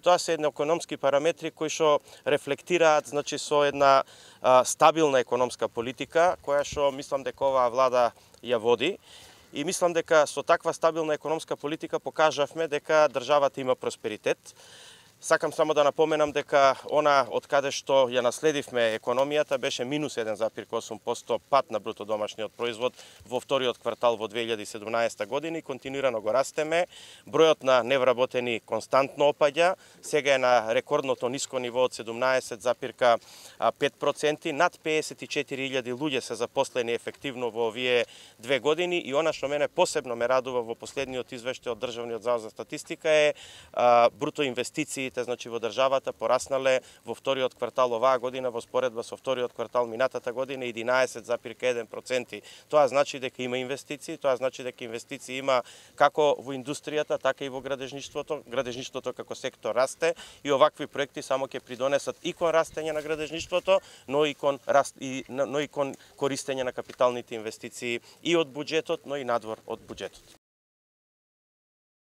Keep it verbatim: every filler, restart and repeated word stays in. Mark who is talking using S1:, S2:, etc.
S1: тоа се едни економски параметри кои што рефлектираат, значи, со една а, стабилна економска политика, која што мислам дека оваа влада ја води. И мислам дека со таква стабилна економска политика покажавме дека државата има просперитет. Сакам само да напоменам дека она од каде што ја наследивме економијата беше минус еден запир осум проценти пат на бруто домашниот производ во вториот квартал во две илјади и седумнаесета година и континуирано го растеме. Бројот на невработени константно опаѓа, сега е на рекордното ниско ниво од седумнаесет запир пет проценти, над пеесет и четири илјади луѓе се запослени ефективно во овие две години и она што мене посебно ме радува во последниот извештај од Државниот завод за статистика е а, бруто инвестиции, значи во државата пораснале во вториот квартал оваа година во споредба со вториот квартал минатата година единаесет запир еден проценти. Тоа значи дека има инвестиции, тоа значи дека инвестиции има како во индустријата, така и во градежништвото. Градежништвото како сектор расте и овакви проекти само ќе придонесат и кон растење на градежништвото, но и кон раст и но и кон користење на капиталните инвестиции и од буџетот, но и надвор од буџетот.